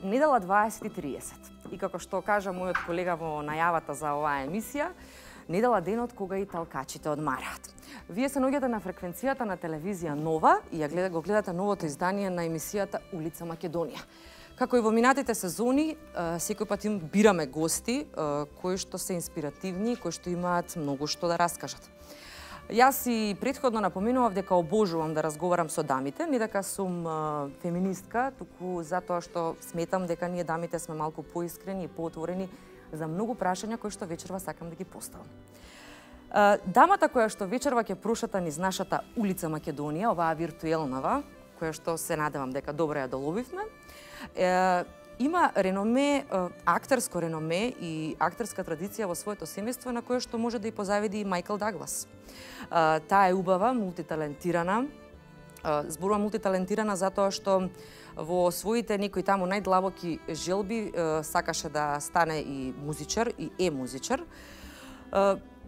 недела 20:30. И како што кажа мојот колега во најавата за оваа емисија, недела денот кога и талкачите одмараат. Вие се наоѓате на фреквенцијата на телевизија Нова и го гледате новото издание на емисијата Улица Македонија. Како и во минатите сезони, секој пат им бираме гости кои што се инспиративни, кои што имаат многу што да раскажат. Јас и претходно напоменував дека обожувам да разговарам со дамите, не дека сум феминистка, туку затоа што сметам дека ние дамите сме малку поискрени и поотворени за многу прашања кои што вечерва сакам да ги поставам. Дамата која што вечерва ќе прошата низ нашата Улица Македонија, оваа виртуелнава, која што се надевам дека добро ја доловивме, има реноме, актерско реноме и актерска традиција во своето семејство на кое што може да и позавиди и Мајкл Даглас. Таа е убава, мултиталентирана. Зборувам мултиталентирана затоа што во своите некои таму најдлабоки желби сакаше да стане и музичар, и е музичар.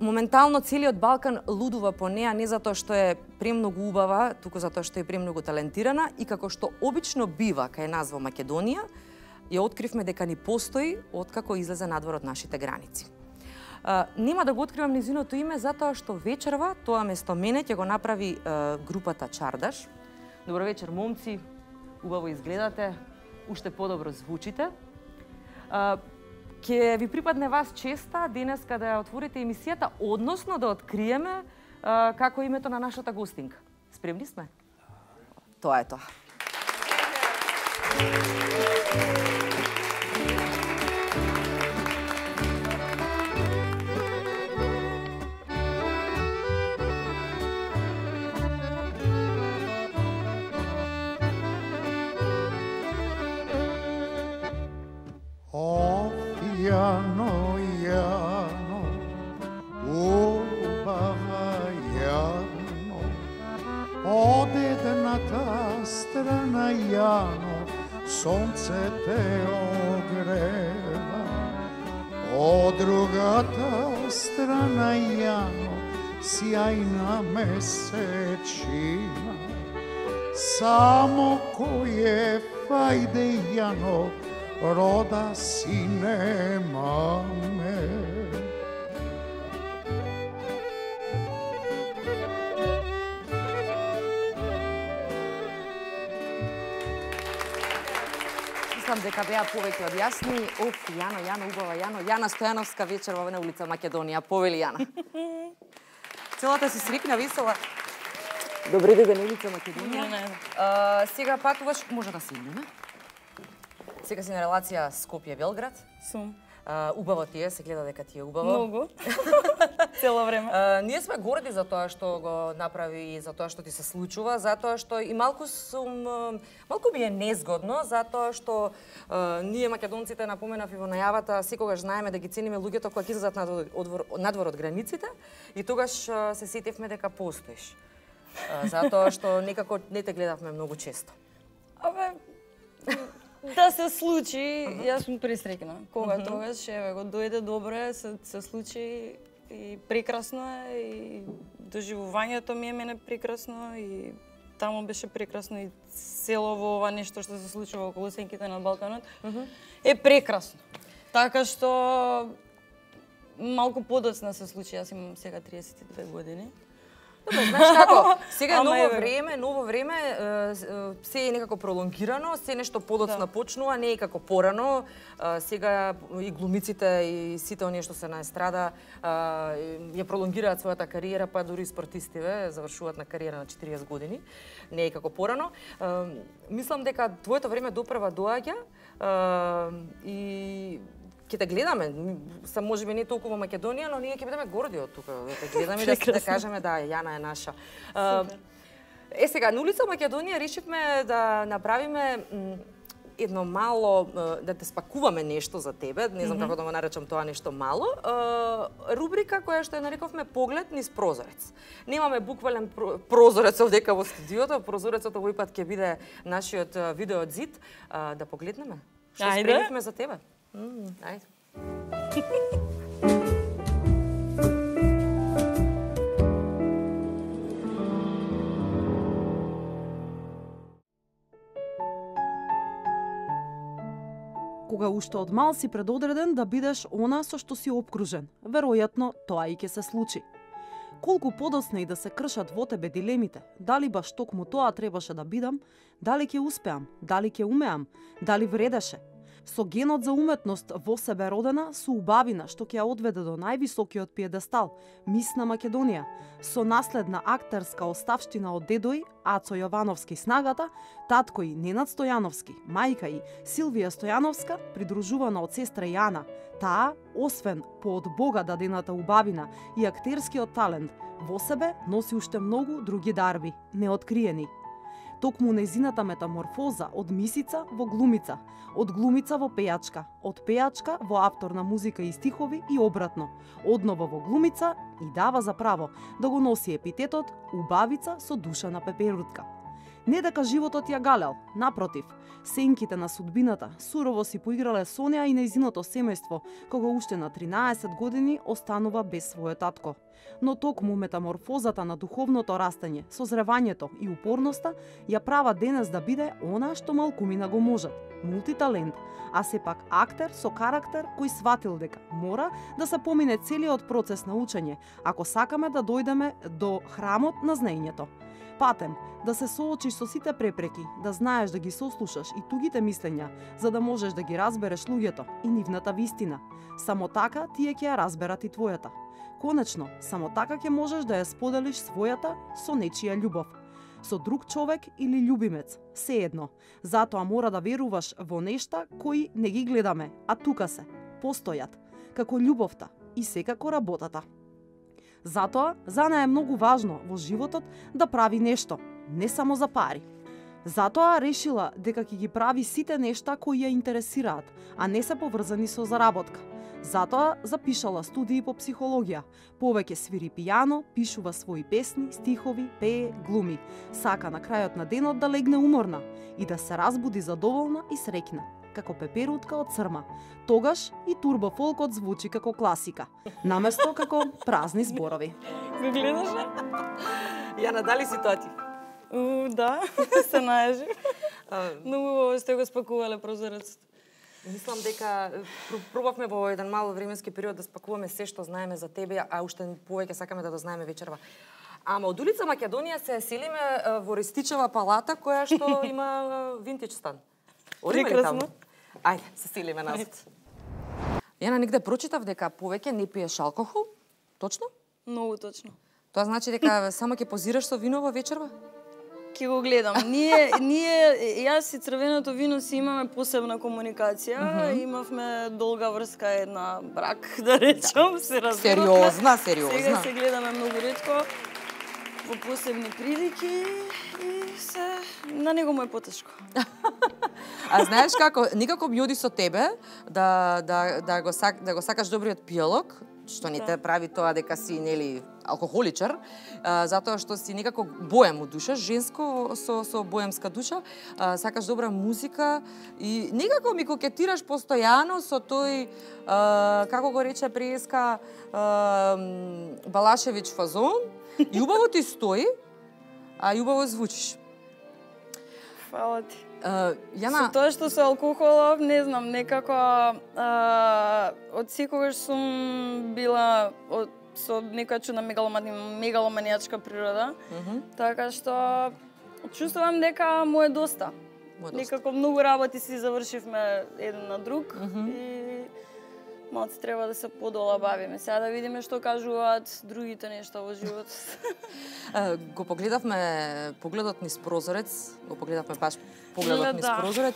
Моментално целиот Балкан лудува по неа не затоа што е премногу убава, туку затоа што е премногу талентирана и како што обично бива кај нас во Македонија, ја откривме дека ни постои откако излезе надвор од нашите граници. Нема да го откривам низиното име затоа што вечерва тоа место мене ќе го направи групата Чардаш. Добро вечер, момци, убаво изгледате, уште подобро звучите. Ќе ви припадне вас честа денеска да ја отворите емисијата, односно да откриеме како е името на нашата гостинка. Спремни сме? Тоа е тоа. Јано, Јано, убава Јано, од едната страна Јано, сонце те огрева, од другата страна Јано, сјајна месечина, само кој фајде Јано, рода сине маме. Мислам дека беа повеќе од јасни. Јано, Јано, убава Јано. Јана Стојановска вечерва на Улица Македонија. Повели Јана. Целата си срикна, весела. Добри ден, Улица Македонија. Сега патуваш, може да седнеме? Сега си на релација Скопје-Белград. Сум. Убаво ти е, се гледа дека ти е убаво. Многу. Цело време. Ние сме горди за тоа што го направи и за тоа што ти се случува, затоа што и малку ми е незгодно, затоа што ние македонците, напоменав и во најавата, секогаш знаеме да ги цениме луѓето кои ќе излезат надвор од границите и тогаш се сетевме дека постоиш. Затоа што некако не те гледавме многу често. Да се случи, јас сум пресреќна. Кога тогаш, еве го дојде добро, се случи и прекрасно е, и доживувањето ми е мене прекрасно и таму беше прекрасно и цело во ова нешто што се случува околу сенките на Балканот е прекрасно. Така што малку подоцна се случи, јас имам сега 32 години. Добре, знаеш како, сега е ново време, се е некако пролонгирано, се нешто подоцна почнува, не е како порано. Сега и глумиците и сите оние што се на естрада ја пролонгираат својата кариера, па дури и спортистиве завршуваат на кариера на 40 години. Не е како порано. Мислам дека твоето време допрва доаѓа и ќе те гледаме, можеби не толку во Македонија, но ние ќе бидеме горди од тука, да те гледаме и да кажеме да Јана е наша. Сега на Улица Македонија решивме да направиме едно мало, да те спакуваме нешто за тебе, не знам како да го наречам тоа нешто мало, рубрика која што ја нарековме Поглед низ прозорец. Немаме буквален прозорец овдека во студиото, прозорецот овој пат ќе биде нашиот видео зид, да погледнеме. Што спремивме за тебе? Ајде. кога уште од мал си предодреден да бидеш она со што си обкружен. Веројатно, тоа и ќе се случи. Колку подоцна и да се кршат во тебе дилемите, дали баш токму тоа требаше да бидам, дали ќе успеам, дали ќе умеам, дали вредеше. Со генот за уметност во себе родена, со убавина што ќе ја одведе до највисокиот пиедестал, мис на Македонија, со наследна актерска оставштина од дедој Ацо Јовановски снагата, татко и Ненад Стојановски, мајка и Силвија Стојановска, придружувана од сестра Јана. Таа, освен по од Бога дадената убавина и актерскиот талент, во себе носи уште многу други дарби, неоткриени. Токму нејзината метаморфоза од мисица во глумица, од глумица во пејачка, од пејачка во автор на музика и стихови и обратно, одново во глумица и дава за право да го носи епитетот убавица со душа на пеперутка. Не дека животот ја галел, напротив, сенките на судбината сурово си поиграле со неа и нејзиното семејство, кога уште на 13 години останува без својот татко. Но токму метаморфозата на духовното растење, созревањето и упорноста ја права денес да биде она што малкумина го можат, мултиталент, а сепак актер со карактер кој сватил дека мора да се помине целиот процес на учење, ако сакаме да дојдеме до храмот на знаењето. Патем, да се соочиш со сите препреки, да знаеш да ги сослушаш и тугите мислења, за да можеш да ги разбереш луѓето и нивната вистина. Само така тие ќе ја разберат и твојата. Конечно, само така ќе можеш да ја споделиш својата со нечија љубов. Со друг човек или љубимец, сеедно. Затоа мора да веруваш во нешта кои не ги гледаме, а тука се, постојат, како љубовта и секако работата. Затоа, за неа е многу важно во животот да прави нешто, не само за пари. Затоа решила дека ќе ги прави сите нешта кои ја интересираат, а не се поврзани со заработка. Затоа запишала студии по психологија, повеќе свири пијано, пишува своји песни, стихови, пее, глуми. Сака на крајот на денот да легне уморна и да се разбуди задоволна и среќна, како пеперутка од црма. Тогаш и турбофолкот звучи како класика, наместо како празни зборови. Го гледаше? Јана, дали си тоа ти? Да, се најажи. Многу сте го спакувале прозорецот. Мислам дека пробавме во еден мал временски период да спакуваме се што знаеме за тебе, а уште повеќе сакаме да знаеме вечерва. Ама од улица Македонија се селиме во Рестичева палата, која што има винтидж стан. Прекрасно. Ајде, се селиме назад. Јана, негде прочитав дека повеќе не пиеш алкохол, точно? Многу точно. Тоа значи дека само ќе позираш со вино во вечерва? Ќе го гледам. Јас и црвеното вино си имаме посебна комуникација. Имавме долга врска, една брак, да речам, се разбираме. Сериозна. Сега се гледаме многу ретко, во посебни прилики и се на него му е потешко. А знаеш како, никако би оди со тебе да го сакаш добриот пијалок, што не те прави тоа дека си нели алкохоличар, затоа што си некако боем од душа, женско со боемска душа, сакаш добра музика и некако ми кокетираш постојано со тој како го рече преска Балашевиќ фазон. И убаво ти стои, а и убаво звучиш. Фала ти. Јана, Со тоа што со алкохолов, не знам, некако од секогаш сум била со некоја чудна мегаломанијачка природа, така што чувствувам дека му е доста. Некако многу работи си завршивме еден на друг и малце треба да се подола бавиме. Сега да видиме што кажуваат другите нешта во животот. Го погледавме погледот низ прозорец, баш погледот низ прозорец.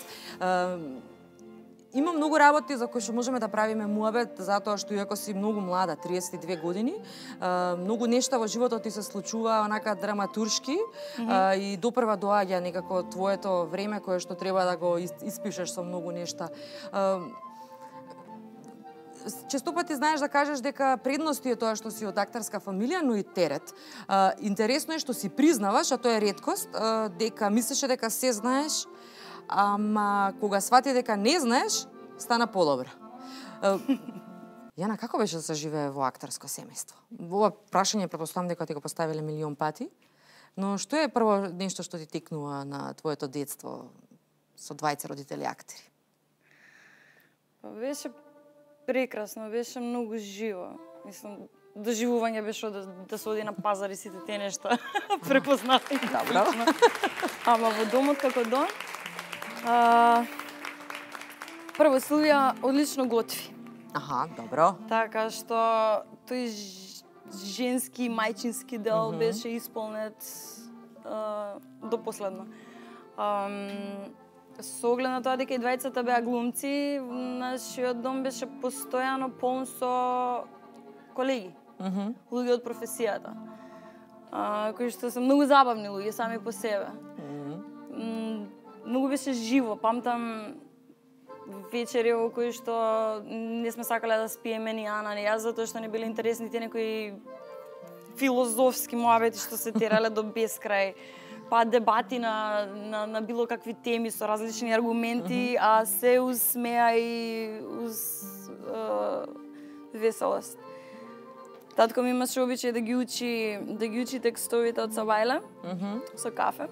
Има многу работи за кои што можеме да правиме муабет, затоа што иако си многу млада, 32 години, многу нешта во животот ти се случува онака драматуршки и допрва доаѓа некако твоето време кое што треба да го испишеш со многу нешта. Често пати знаеш да кажеш дека предности е тоа што си од актерска фамилија, но и терет. Интересно е што си признаваш, а тоа е реткост, дека мислеше дека се знаеш, ама кога свати дека не знаеш, стана подобро. Јана, како беше да се живее во актерско семејство? Ова прашање претпоставам дека ти го поставиле милион пати, но што е прво нешто што ти текнува на твоето детство со двајца родители актери? Беше прекрасно, беше многу живо. Мислам, доживување беше да се оди на пазар и сите тие нешта препознати. Добро. Ама во домот како дом, прво Силвија одлично готви. Аха, добро. Така што тој женски мајчински дел беше исполнет до последно. Со оглед на тоа дека и двајцата беа глумци, нашиот дом беше постојано полн со колеги, луѓе од професијата, кои што се многу забавни луѓе сами по себе. Многу беше живо, памтам вечери во кои што не сме сакале да спиеме ни Ана ни јас, затоа што не биле интересни тие некои филозофски муабети што се терале до безкрај, па дебати на било какви теми со различни аргументи, а се уз смеа и уз веселост. Татко ми имаше обичај да ги учи текстовите од Сабајле со кафе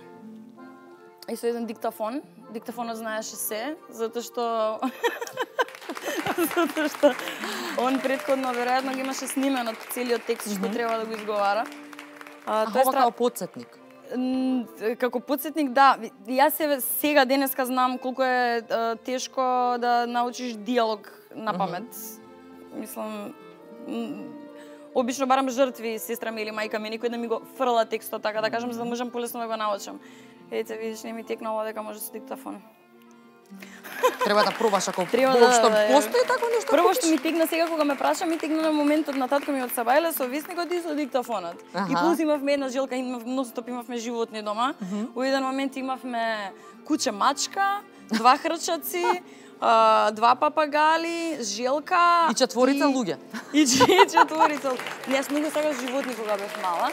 и со еден диктафон. Диктафонот знаеше се, затоа што он претходно веројатно ги имаше снимено целиот текст што треба да го изговара. Тоа како потсетник. Како потсетник, да. Јас сега денеска знам колку е тешко да научиш диалог на памет. Мислам, обично барам жртви, сестра ми или мајка ми, никој да ми го фрла текстот, така да кажам, за да можам полесно да го научам. Ете, видиш, не ми текнало дека може со диктафон. Треба да пробаш ако воопшто постои тако нешто. Прво што ми тегна сега кога ме праша, ми тегна на моментот на татко ми од Сабајле со весникот и со диктафонот. И плюс имавме една жилка, ностоп имавме животни дома. Во еден момент имавме куче мачка, 2 хрчаци, 2 папагали, желка и 4 луѓе. И 4. Јас многу сакав животни кога бев мала.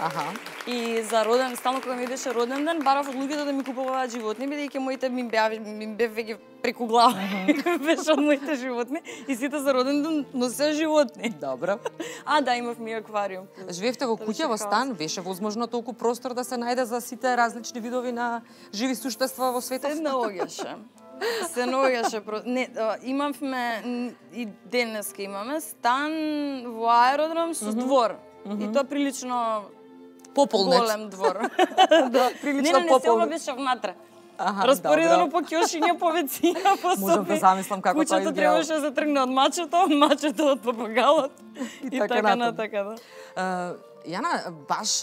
И за роден, стално кога ми беше роден ден, барав од луѓето да ми купуваат животни, бидејќи моите ми бев веќе преку глава. Беше од моите животни и сите за роден ден носеа животни. Добро. Да, имав ми аквариум. Живеевте во куќа, во стан, беше возможно толку простор да се најде за сите различни видови на живи суштества во светот? Се наоѓаше. Не, имавме и денеска имаме стан во аеродром со двор. И тоа прилично пополнет. Голем двор. Да, прилично не, пополнет. Не, беше внатре. Распоредено по ќошиња, по веција, по соби. Можам да замислам како тоа изгледа. Куќето требаше да тргне од мачето од папагалот и така натака. Јана, баш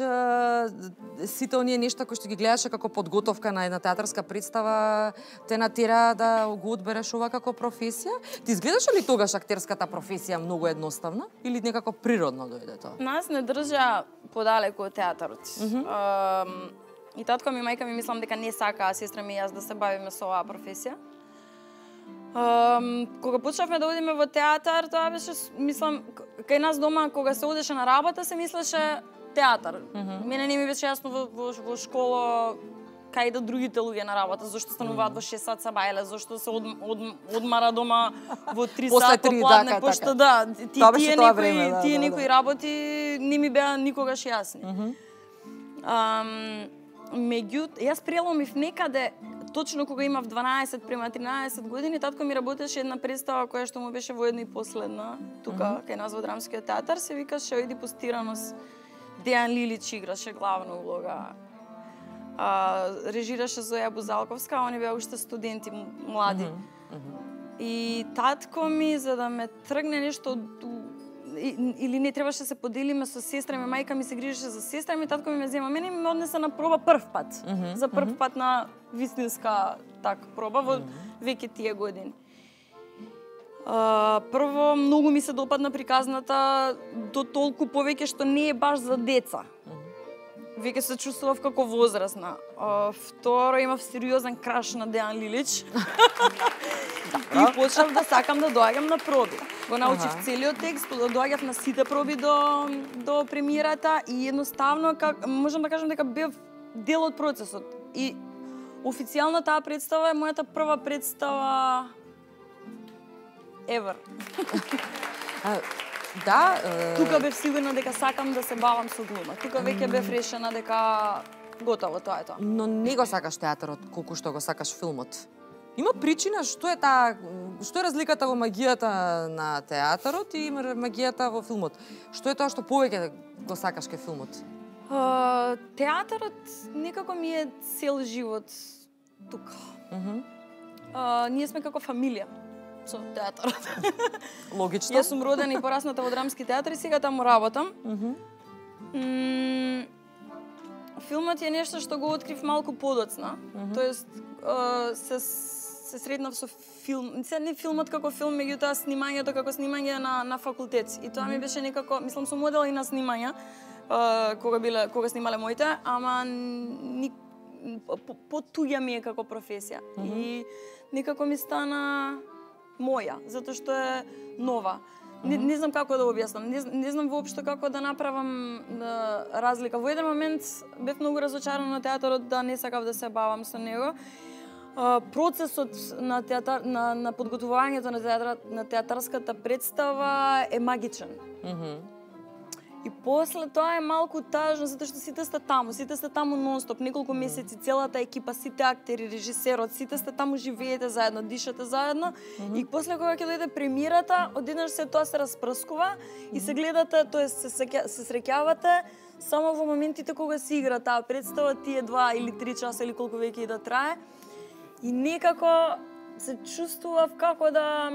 сите оние нешта кои што ги гледаше како подготовка на една театарска представа те натера да го одбереш ова како професија? Ти изгледаше ли тогаш актерската професија многу едноставна или некако природно дојде тоа? Нас не држа подалеку од театарот. И татко ми, мајка ми мислам дека не сакаа сестра ми и јас да се бавиме со оваа професија. Кога почнавме да одиме во театар, тоа беше, мислам, кај нас дома, кога се одеше на работа, се мислеше театар. Мене не ми беше јасно во школа кај да другите луѓе на работа, зашто стануваат во 6 сат Сабајле, зашто се одмара дома во 3 сат попладне, пошто да, тие некои работи не ми беа никогаш јасни. Меѓутоа, јас преломив некаде, точно кога имав 12 према 13 години, татко ми работеше една представа која што му беше воедно и последна, тука кај нас во Драмскиот театар, се викаше Оедипус Тиранос. Дејан Лилич играше главна улога. Режираше Зоја Бузалковска, они беа уште студенти млади. И татко ми, за да ме тргне нешто или не требаше да се поделиме со сестра ми, мајка ми се грижеше за сестра ми, татко ми ме зема мене и ме однесе на проба прв пат. За прв пат на вистинска проба во веќе тие години. Прво, многу ми се допадна приказната, до толку повеќе што не е баш за деца. Веќе се чувствував како возрастна. Второ, имав сериозен краш на Дејан Лилич. И почнав да сакам да доаѓам на проби. Го научив целиот текст, доаѓав на сите проби до премиерата и едноставно, можам да кажам дека бев дел од процесот. И официјално таа представа е мојата прва представа ever. Да, тука бев сигурна дека сакам да се бавам со глума. Тука веќе бев решена дека готово, тоа е тоа. Но не го сакаш театарот колку што го сакаш филмот. Има причина што е разликата во магијата на театарот и магијата во филмот? Што е тоа што повеќе го сакаш кај филмот? Театарот некако ми е цел живот тука. Ние сме како фамилија со театарот. Логично. Јас сум родена и порасната во драмски театар и сега таму работам. Филмот е нешто што го открив малку подоцна. Тоест, се сретнав со филм. Не филмот како филм, меѓутоа снимањето како снимање на факултет. И тоа ми беше некако, мислам, сум модел и на снимања, кога снимале моите, ама потуѓа ми е како професија. И некако ми стана моја, затоа што е нова. Не знам како да објаснам, не знам воопшто како да направам разлика. Во еден момент бев многу разочарана на театарот, да не сакав да се бавам со него. Процесот на подготвувањето на театарската представа е магичен. И после тоа е малку тажно, затоа што сите сте таму нонстоп, неколку месеци, целата екипа, сите актери, режисерот, сите сте таму, живеете заедно, дишате заедно. И после кога ќе дојде премиерата, одеднаш се тоа се распрскува и се гледате, тоест се среќавате само во моментите кога се игра таа представа, тие 2 или 3 часа или колку веќе и да трае. И некако се чувствував како да...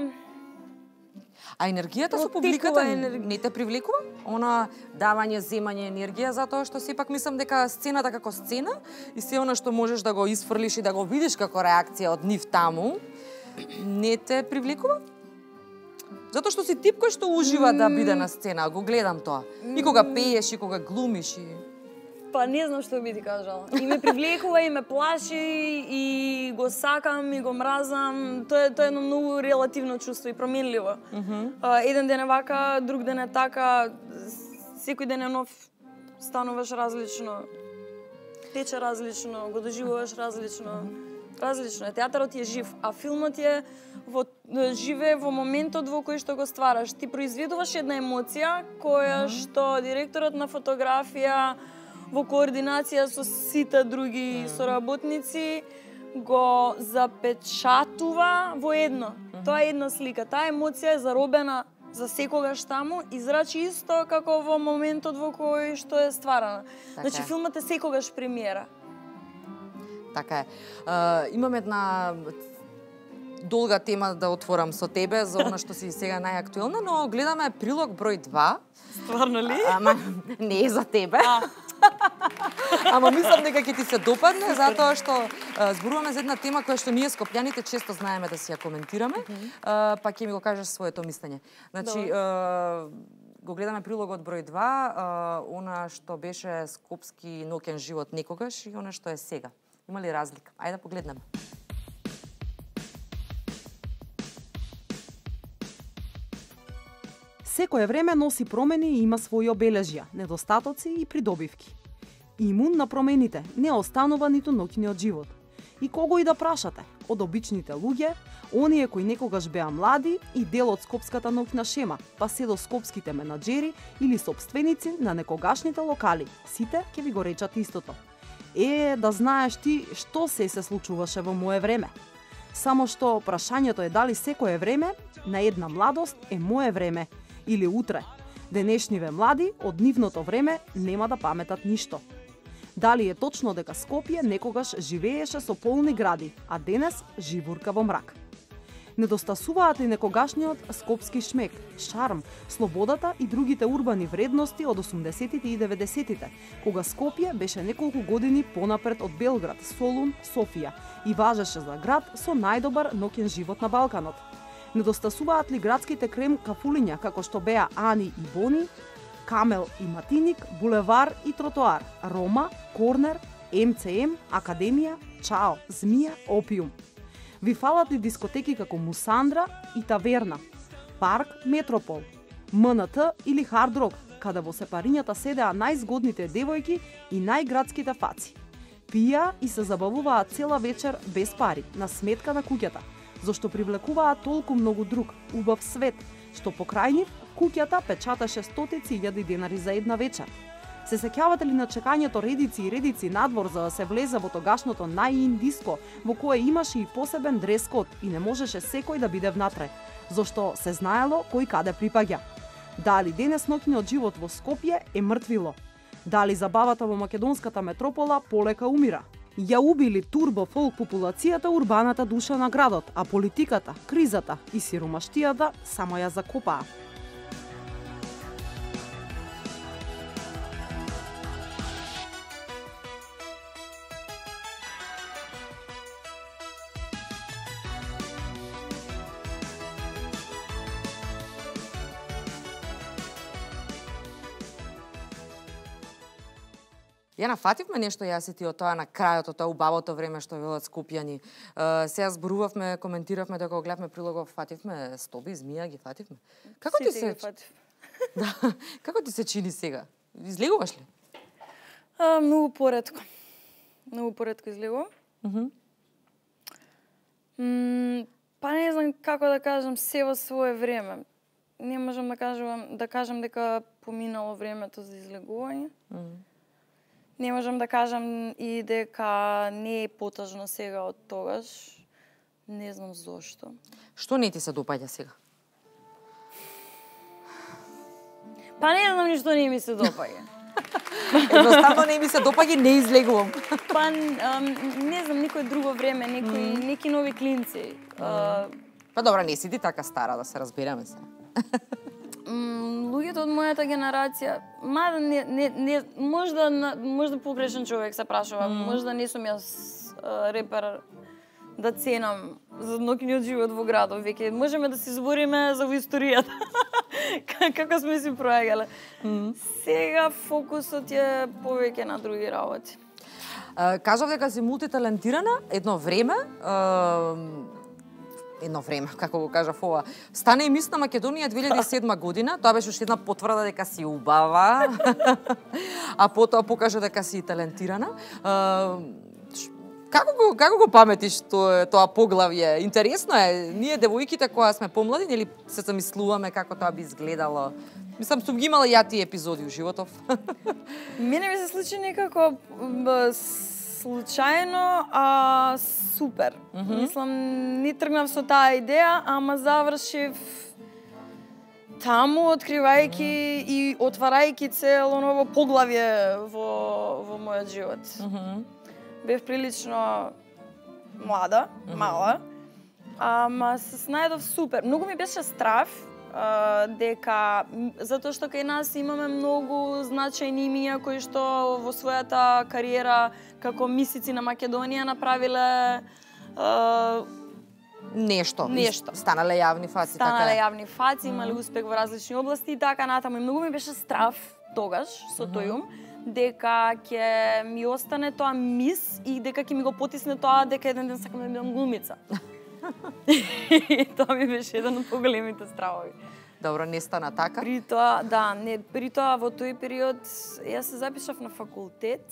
А енергијата со публиката не те привлекува? Она давање, земање енергија, затоа што сепак мислам дека сцената како сцена и се она што можеш да го исфрлиш и да го видиш како реакција од нив таму, не те привлекува? Затоа што си тип кој што ужива да биде на сцена, го гледам тоа. И кога пееш, и кога глумиш и... Па не знам што би ти кажала. И ме привлекува, и ме плаши, и го сакам, и го мразам. Тоа е едно многу релативно чувство и променливо. Еден ден е вака, друг ден е така, секој ден е нов, стануваш различно, тече различно, го доживуваш различно. Различно е. Театарот е жив, а филмот е живее во моментот во кој што го ствараш. Ти произведуваш една емоција која што директорот на фотографија во координација со сите други соработници го запечатува во едно. Тоа е една слика. Таа емоција е заробена за секогаш таму и зрачи исто како во моментот во кој што е стварана. Значи филмот е секогаш премиера. Така е. Имам една долга тема да отворам со тебе за она што си сега најактуелна, но гледаме прилог број 2. Стварно ли? Ама не е за тебе. Ама мислам дека ќе ти се допадне, затоа што зборуваме за една тема која што ние скопјаните често знаеме да си ја коментираме, па ќе ми го кажеш своето мислење. Значи, го гледаме прилогот број 2, она што беше скопски ноќен живот некогаш и она што е сега. Има ли разлика? Ајде да погледнеме. Секое време носи промени и има своји обележја, недостатоци и придобивки. Имун на промените не останува ниту ноќниот живот. И кого и да прашате, од обичните луѓе, оние кои некогаш беа млади и дел од скопската ноќна шема, па се до скопските менаџери или сопственици на некогашните локали, сите ќе ви го речат истото. Да знаеш ти што се случуваше во мое време. Само што прашањето е дали секое време на една младост е мое време или утре. Денешниве млади од нивното време нема да паметат ништо. Дали е точно дека Скопје некогаш живееше со полни гради, а денес живурка во мрак? Недостасуваат ли некогашниот скопски шмек, шарм, слободата и другите урбани вредности од 80-тите и 90-тите, кога Скопје беше неколку години понапред од Белград, Солун, Софија и важеше за град со најдобар ноќен живот на Балканот? Недостасуваат ли градските крем кафулиња како што беа Ани и Бони, Камел и Матиник, Булевар и Тротоар, Рома, Корнер, МЦМ, Академија, Чао, Змија, Опиум? Ви фалат ли дискотеки како Мусандра и Таверна, Парк, Метропол, МНТ или Хард Рок, каде во сепарињата седеа најзгодните девојки и најградските фаци? Пија и се забавуваат цела вечер без пари, на сметка на куќата, зашто привлекуваат толку многу друг, убав свет, што покрај нив куќата печаташе стотици илјади денари за една вечер. Се сеќавате ли на чекањето редици и редици надвор за да се влезе во тогашното најин диско, во кое имаше и посебен дрес-код и не можеше секој да биде внатре, зашто се знаело кој каде припаѓа? Дали денес ноќниот живот во Скопје е мртвило? Дали забавата во македонската метропола полека умира? Ја убили турбо фолк популацијата урбаната душа на градот, а политиката, кризата и сиромаштијата само ја закопаа. Ја нафативме нешто јас и ти од тоа на крајот, од тоа убавото време што велат скопјани. Сега зборувавме, коментиравме дека го гледавме прилогов, фативме стоби, змија, ги фативме. Како ти се Да, како ти се чини сега? Излегуваш ли? Многу поретко. Многу поретко излегувам. Па не знам како да кажам, се во свое време. Не можам да кажам дека поминало времето за излегување. Не можам да кажам и дека не е потажно сега од тогаш. Не знам зошто. Што не ти се допаѓа сега? Па не знам ништо не ми се допаѓа. Едноставно не ми се допаѓа и не излегувам. Па не знам, никој друго време, неки нови клинци. Па добра, не си ти така стара, да се разбереме се. Луѓето од мојата генерација, мада можда погрешен човек се прашува, можда не сум јас репер да ценам за ноќниот живот во градот, веќе можеме да се збориме за во историјата. Како сме си проаѓале. Сега фокусот е повеќе на други работи. Кажав дека си мултиталентирана едно време, како го кажав ова, стана и Мис на Македонија 2007 година, тоа беше уште една потврда дека си убава, а потоа покажа дека си талентирана. Како го паметиш тоа поглавје? Интересно е, ние девојките која сме помлади, нели се замислуваме како тоа би изгледало? Мислам, сум ги имала ја тие епизоди у животов. Мене ми се случи некако случајно, а супер. Мислам, не тргнав со таа идеја, ама завршив таму, откривајќи и отварајќи цело ново поглавје во мојот живот. Бев прилично млада, мала, ама се снајдов супер. Многу ми беше страв, дека затоа што кај нас имаме многу значајни имиња кои што во својата кариера како мисици на Македонија направиле нешто. Станале јавни фаци, јавни фаци, имале успех во различни области и така натаму. И многу ми беше страв тогаш со тој ум дека ќе ми остане тоа мис и дека ќе ми го потисне тоа дека еден ден сакам да бидам глумица. Тоа ми беше еден од поголемите стравови. Добро, не стана така? При тоа во тој период јас се запишав на факултет.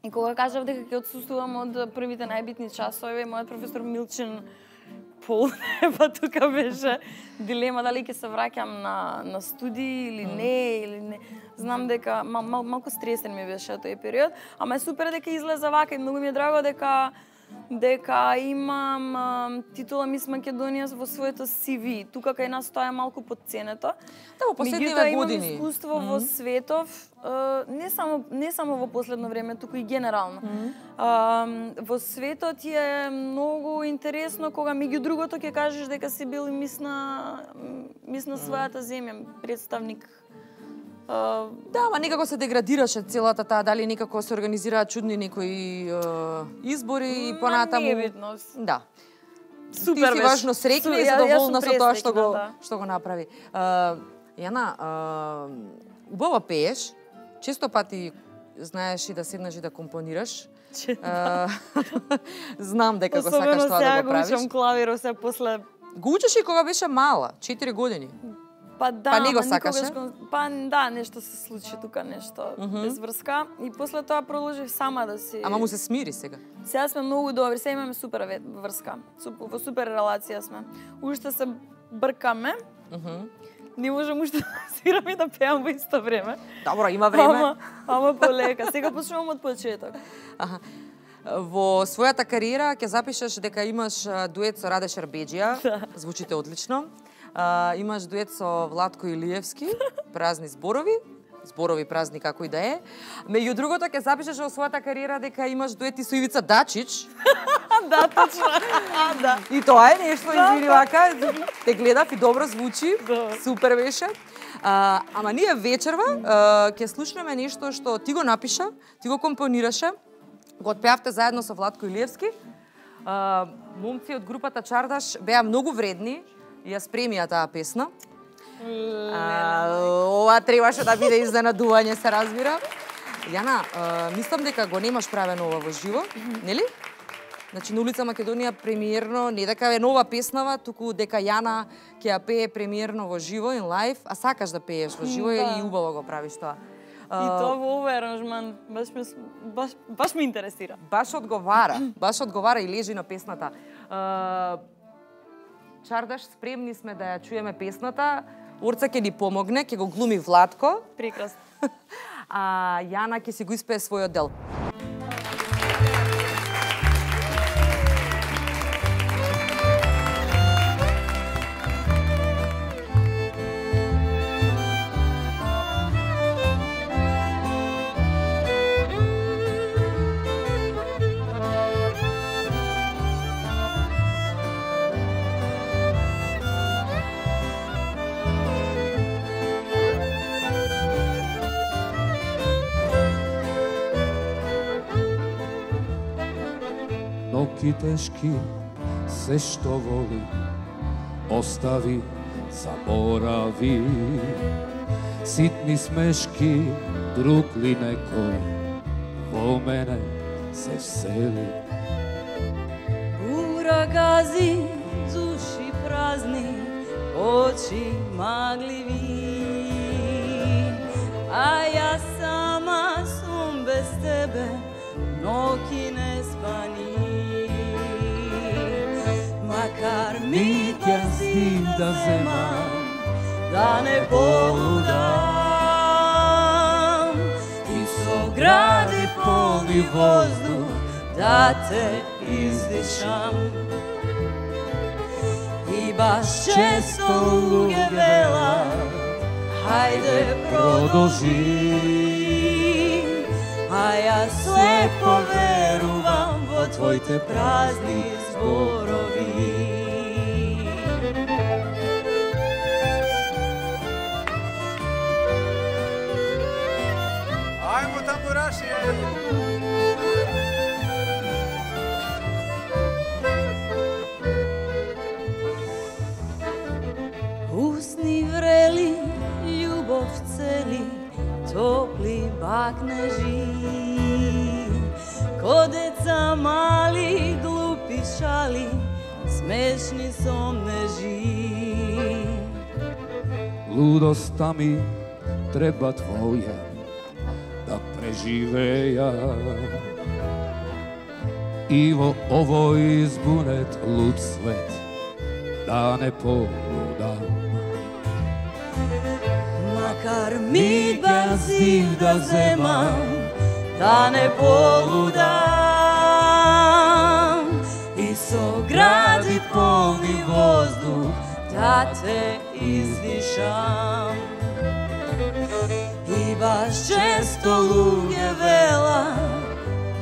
И кога кажав дека ќе отсуствувам од првите најбитни часови, мојот професор Милчин па тука беше дилема дали ќе се враќам на студии или не, Знам дека малку стресен ми беше тој период, ама е супер дека излеза вака и многу ми е драго дека имам титула Мис Македонија во своето CV. Тука кај нас тоа е малку подценето. Да, во последниве години. Имам искуство во светов, не само во последно време, туку и генерално. Во светот е многу интересно кога меѓу другото ќе кажеш дека си бил мис на својата земја, представник. Да, ама некако се деградираше целата таа, дали некако се организираат чудни некои избори и понатаму. Небитно. Да. Супер ти си важно среќна и задоволна со тоа што го направи. Јана, убаво пееш, често пати знаеш и да седнеш и да компонираш. Знам дека го сакаш тоа да го правиш. Особено сега го учам клавир, се после... Го учиш и кога беше мала, 4 години. Па да, па не го сакаше? Па да, нешто се случи тука, нешто без врска. И после тоа продолжив сама да си... Ама му се смири сега? Сега сме многу добри, сега имаме супер врска. Во супер релација сме. Уште се бркаме, Не можам уште да свирам и да пеам во исто време. Добро, има време. Ама полека. Сега почнувам од почеток. Аха. Во својата кариера ќе запишеш дека имаш дует со Раде Шербеџија, звучите одлично. Имаш дует со Владко Илиевски, Празни зборови, зборови празни како и да е. Меѓу другото ќе запишеш во својата кариера дека имаш дуети со Ивица Дачич. Да, точно. Да. И тоа е нешто, извини вака, те гледав и добро звучи, супер беше. Ама ние вечерва ќе слушнеме нешто што ти го напиша, ти го компонираше, го отпеавте заедно со Владко Илиевски. Момци од групата Чардаш беа многу вредни и ја спремија таа песна. Ова требаше да биде изненадување, се разбира. Јана, мислам дека го немаш правено ова во живо, нели? Значи, на улица Македонија премиерно, не дека е нова песнава, туку дека Јана ќе ја пее премиерно во живо, in live, а сакаш да пееш во живо и убаво го правиш тоа. И тоа во овој аранжман баш ме интересира. Баш одговара и лежи на песната. Чардаш, спремни сме да ја чуеме песната. Орца ќе ни помогне, ќе го глуми Владко. Прекрасно. А Јана ќе си го испее својот дел. Ноки тешки, се што воли, остави, заборави. Ситни смешки, друг ли некој, во мене се всели. Ура гази, души празни, очи магливи. А јас сама сум без тебе, ноки не спани. Макар ми ќе стиг да земам, да не полудам, и со гради полни воздух да те издишам. И баш често луѓе велат, хајде продолжи, а јас слепо верувам во твоите празни зборови. Ајмо тамбурашија! Усни врели, љубов цели, топли бакнежи. Ко деца мали, глупи шали, смешни сомнежи. Лудоста ми треба твоја да преживеја. И во овој збунет луд свет да не полудам. Макар мидба зив да земам, да не полудам, и со гради полни воздух да те издишам. И баш често луѓе велат,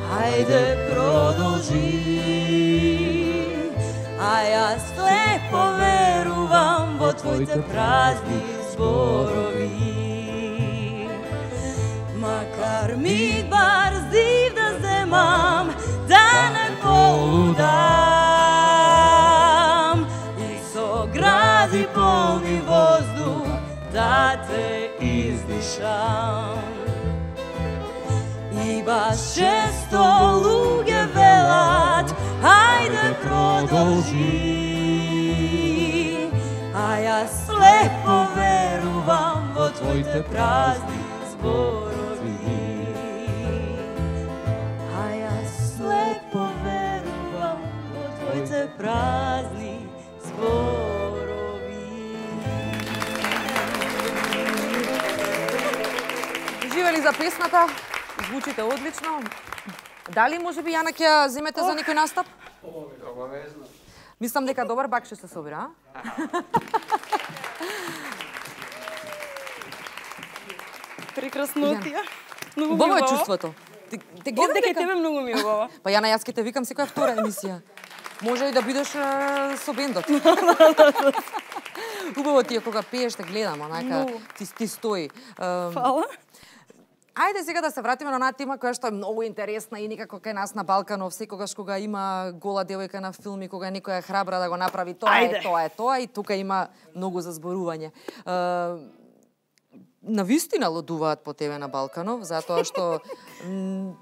хајде продолжи, а јас слепо верувам во твоите празни зборови. Макар мидбар зив да земам, да не полудам, и со гради полни воздух да те издишам. И баш често луѓе велат, хајде продолжи, а јас слепо верувам во твоите празни зборови. А јас слепо верувам во твоите празни зборови. за песната. Звучите одлично. Дали може би Јана ќе ја земете за некој настап? Обавезно. Мислам дека добар бак ќе се собира, а? Прекраснотија. Многу Убаво е убаво. чувството. Те гледам Дека дека... тебе многу ми е убаво. Па Јана, јас ке те викам секоја втора емисија. Може и да бидеш со бендот. Убаво ти е кога пееш, те гледам, онака, ти стои. Фала. Ајде сега да се вратиме на онаа тема која што е многу интересна и некако кај нас на Балканов, секогаш кога има гола девојка на филми, кога некоја е храбра да го направи тоа е тоа и тука има многу за зборување. Навистина лудуваат по тебе на Балканов, затоа што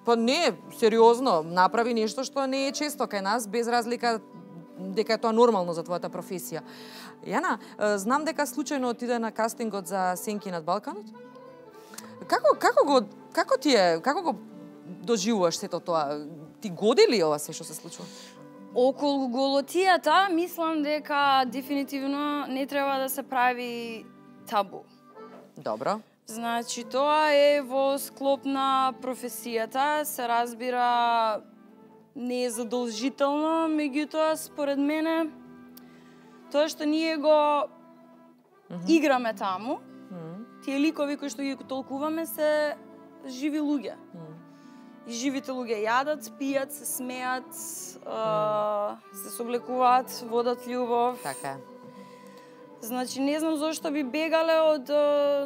па не, сериозно, направи нешто што не е често кај нас, без разлика дека е тоа нормално за твојата професија. Јана, знам дека случајно отиде на кастингот за Сенки над Балканот? Како го доживуваш сето тоа? Ти годи ли ова се што се случува? Околу голотијата, мислам дека дефинитивно не треба да се прави табу. Добро. Значи, тоа е во склоп на професијата, се разбира не е задолжително, меѓутоа, според мене, тоа што ние го играме таму, тие ликови кои што ги толкуваме се живи луѓе. И живите луѓе јадат, пијат, се смеат, се соблекуваат, водат љубов. Така е. Значи, не знам зошто би бегале од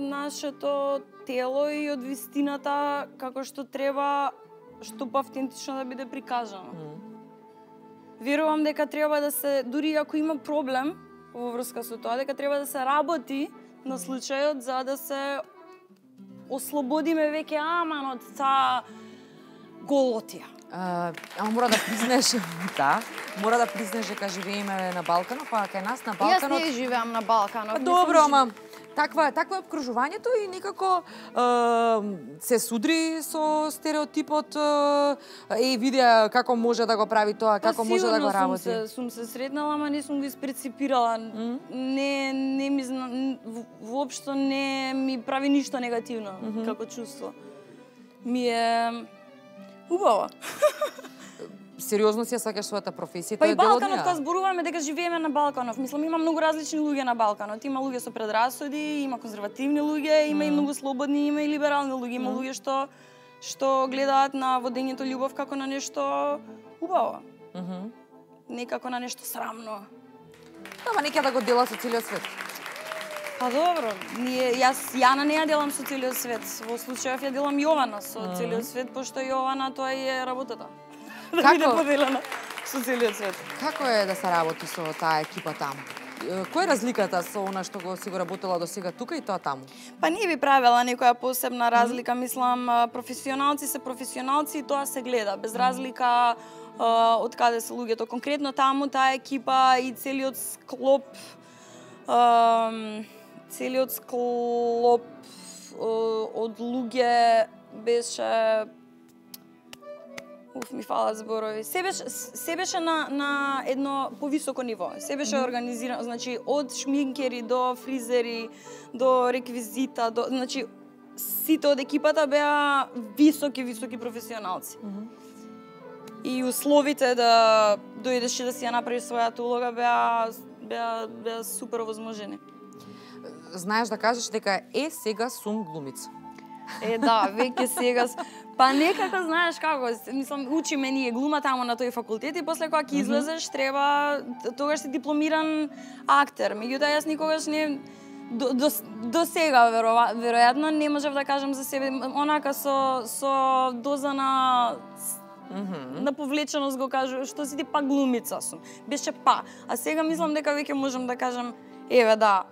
нашето тело и од вистината како што треба, што по-автентично да биде прикажано. Верувам дека треба да се, дури ако има проблем во врска со тоа, дека треба да се работи на случајот за да се ослободиме веќе аман од таа голотија. Ама мора да признаеш, да, мора да признаеш дека живееме на Балканот, па кај нас на Балканот... Јас не живеам на Балканот. Добро, ама таква е обкружувањето и некако се судри со стереотипот видеа како може да го прави тоа, како може да го работи. Сигурно сум се сретнала, ама не сум го испреципирала. Не ми воопшто не ми прави ништо негативно како чувство. Ми е убаво. Сериозно си ја сакаш својата професија, Па тоа и е дел од Балканот, неа. кога зборуваме дека живееме на Балканов, мислам има многу различни луѓе на Балканот. Има луѓе со предрасуди, има конзервативни луѓе, има и многу слободни, има и либерални луѓе, има луѓе што гледаат на водењето љубов како на нешто убаво. Не како на нешто срамно. Ама нека да го дела со целиот свет. Па добро, Јана не ја делам со целиот свет. Во случајов ја делам Јована со целиот свет, пошто Јована тоа е работата. Да биде поделена со целиот свет. Како е да се работи со таа екипа таму? Која е разликата со она што го си го работела до сега тука и тоа таму? Па не би правела некоја посебна разлика, мислам, професионалци се професионалци и тоа се гледа, без разлика од каде се луѓето. Конкретно таму таа екипа и целиот склоп од луѓе беше ми фалат зборови. Се беше на едно повисоко ниво. Се беше организирано, значи од шминкери до фризери, до реквизита, значи сите од екипата беа високи професионалци. И условите да дојдеш и да си ја направиш својата улога беа супер овозможени. Знаеш да кажеш дека сега сум глумица. Да, веќе сега... Па некако знаеш како, мислам, учиме ние глума таму на тој факултет и после кога ќе излезеш треба, тогаш си дипломиран актер. Меѓутоа јас никогаш не... До сега, веројатно, не можев да кажам за себе, онака со доза на повлеченост го кажу, што си ти па глумица сум. Беше па. А сега мислам дека веќе можам да кажам, еве да,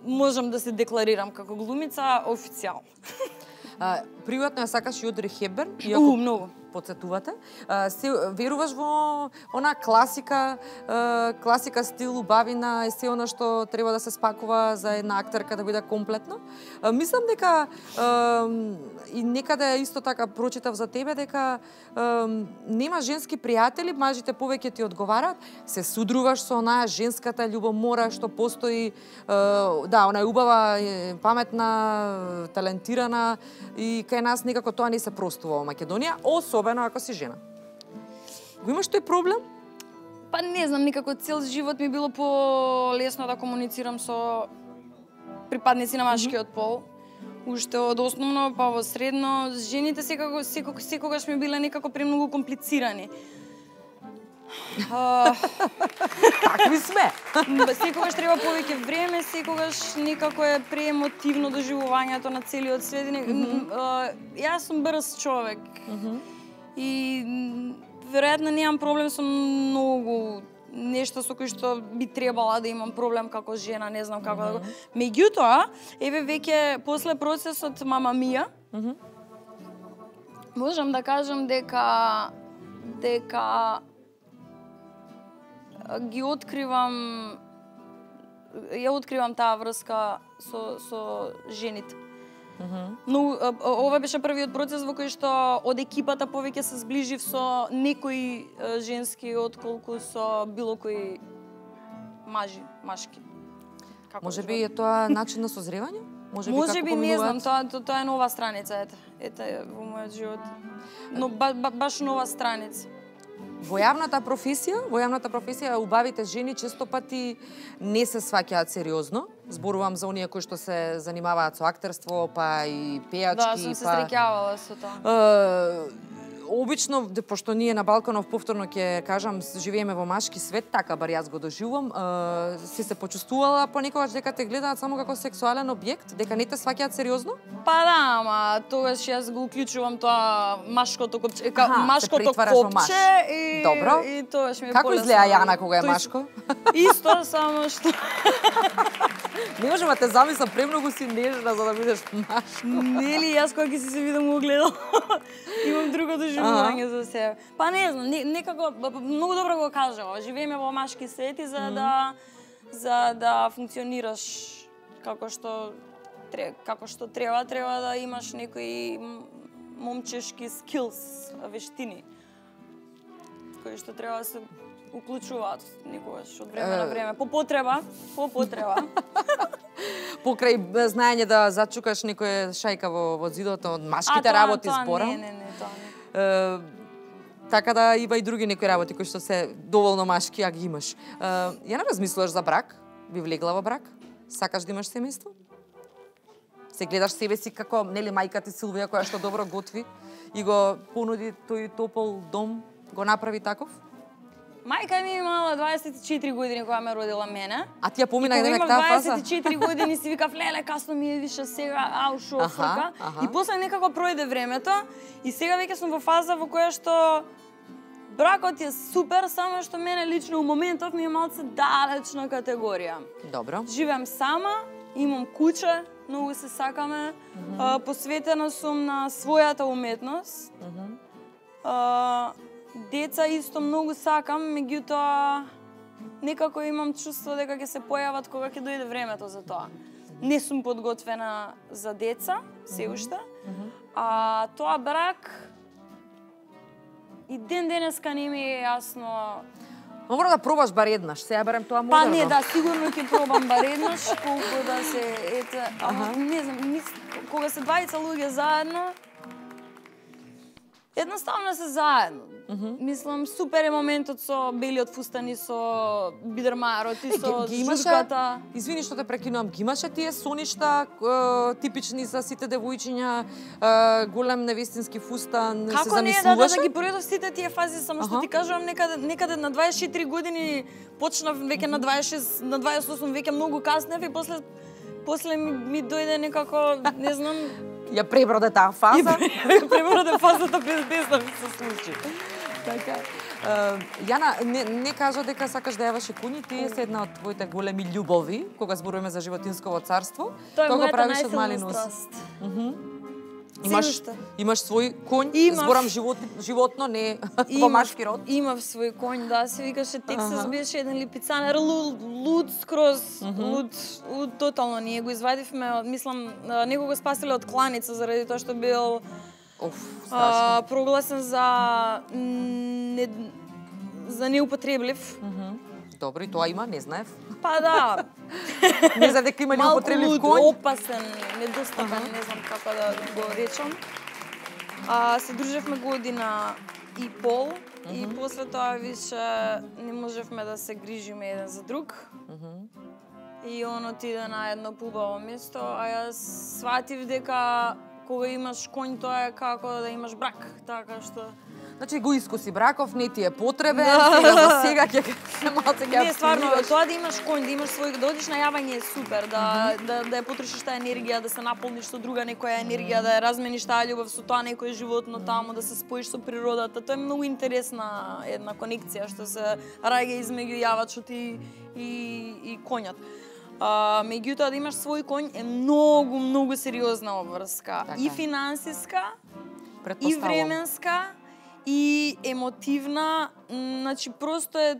можам да се декларирам како глумица официјално. Приватно ја сакаш и Одри Хепберн? Многу. подсетувате. Се веруваш во она класика стил, убавина, е се она што треба да се спакува за една актерка да биде комплетно. Мислам дека и некаде исто така прочитав за тебе дека нема женски пријатели, мажите повеќе ти одговараат, се судруваш со онаа женската љубомора што постои, да, она е убава, паметна, талентирана и кај нас некако тоа не се простува во Македонија, особено ако си жена. Го имаш тој проблем? Па не знам, никако цел живот ми било полесно да комуницирам со припадници на машкиот пол. Уште од основно па во средно, жените секогаш ми биле некако премногу комплицирани. Такви сме. Секогаш треба повеќе време, секогаш некако е преемотивно доживувањето на целиот свет. Јас сум брз човек. И веројатно немам проблем со многу нешто со кои што би требала да имам проблем како жена, не знам како да го. Меѓутоа, еве веќе после процесот Мама Мија, можам да кажам дека ја откривам таа врска со жените. Но ова беше првиот процес во кој што од екипата повеќе се зближив со некои женски отколку со било кои машки. Може би е тоа начин на созревање? Може би не знам, тоа е нова страница, ете во мојот живот. Но баш нова страница. Во јавната професија, убавите жени често пати не се сваќаат сериозно. Зборувам за оние кои што се занимаваат со актерство, па и пејачки, Да, сум се среќавала со тоа. Обично, пошто ние на Балканов повторно ќе кажам, живееме во машки свет, така бар јас го доживувам, си се почувствувала понекогаш дека те гледаат само како сексуален објект, дека не те сваќаат сериозно? Па да, ама тогаш јас го уклучувам тоа машкото копче, копче и добро. И тогаш ми е како изгледа Јана кога е машко? Исто, само што не можам да те замислам, премногу си нежна за да бидеш машко. Нели, јас кога ќе си се видам огледал, имам друго доживување за себе. Па не знам, некако многу добро го кажа, живееме во машки свет и за да функционираш како што треба да имаш некои момчешки скилс, вештини кои што треба да се уклучуваат некогаш од време на време, по потреба. Покрај знаење да зачукаш некоја шајка во зидото од машките работи зборам. Не, тоа не. Така да има и други некои работи кои што се доволно машки, а ги имаш. Ја не размислуваш за брак? Би влегла во брак? Сакаш да имаш семејство? Се гледаш себе си како, нели, мајка ти Силвија која што добро готви и го понуди тој топол дом, го направи таков? Мајка ми имала 24 години кога ме родила мене. А ти ја помина и дека таа фаза? 24 години си викав, леле, касно ми е више сега, шо фрка. И после некако пројде времето и сега веќе сум во фаза во која што бракот е супер, само што мене лично у моментов ми е малце далечна категорија. Добро. Живеам сама, имам куќа, многу се сакаме, посветена сум на својата уметност. Деца исто многу сакам, меѓутоа некако имам чувство дека ќе се појават кога ќе дојде времето за тоа. Не сум подготвена за деца, се уште. А тоа брак и ден денеска не ми е јасно. Мора да пробаш бар еднаш, сега барем тоа модерно. Па не, да, сигурно ќе пробам бар еднаш, колку да се ама не знам, кога се двајца луѓе заедно, едноставно се заедно. Мислам, супер е моментот со белиот фустан и со бидермарот и со журката. Извини што те прекинувам, ги имаше тие соништа типични за сите девојчиња, голем невестински фустан, се замислуваше? Како не, да ги пројдов сите тие фази, само што ти кажувам, некаде на 24 години почнав, веќе на 26, на 28 веќе многу каснев и после ми дојде некако, не знам, ја преброде таа фаза. Преброде фазата без да ми се случи. Така. Јана, не кажа дека сакаш да јаваш коњи, тие се една од твоите големи љубови, кога зборуваме за животинсково царство. Тоа е го мојата правиш од мали најсилна нос. страст. Имаш свој конј, зборам животно, не во машки род. Имав свој конј, да, се викаше Тексас, беше еден липицанер, луд скроз, луд тотално. Ние го извадивме, мислам, него го спасиле од кланица заради тоа што бил прогласен за неупотреблив. Добро, и тоа има, не знаев. Па да. Не знаев дека има неупотреблив конј. Малку опасен, недостапен, не знам како да го речам. Се дружевме година и пол и после тоа више не можевме да се грижиме еден за друг. И он отиде на едно поубаво место, а јас сватив дека кога имаш конј тоа е како да имаш брак, така што Значи го искуси браков, не ти е потребен, за сега ќе малце ќе Не, стварно, тоа да имаш конј, да имаш свој, да одиш на јавање е супер, да ја потрошиш таа енергија, да се наполниш со друга некоја енергија, да ја размениш таа љубов со тоа некое животно таму, да се споиш со природата. Тоа е многу интересна една конекција што се раѓа измеѓу јавачот и конјот. Меѓутоа да имаш свој конј е многу сериозна обврска, и финансиска, и временска, и емотивна, значи просто е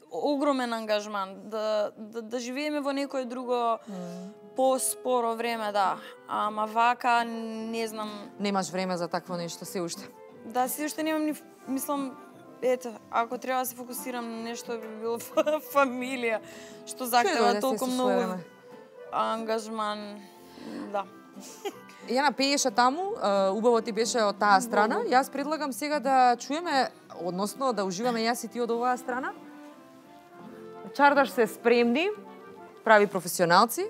огромен ангажман да живееме во некое друго поспоро време, да. Ама вака не знам. Немаш време за такво нешто се уште. Да, се уште немам ни, мислам, ето, ако треба да се фокусирам на нешто би било фамилија, што захтева толку многу ангажман, да. Јана пееше таму, убаво ти беше од таа страна. Јас предлагам сега да чуеме, односно да уживаме јас и ти од оваа страна. Чардаш се спремни, прави професионалци.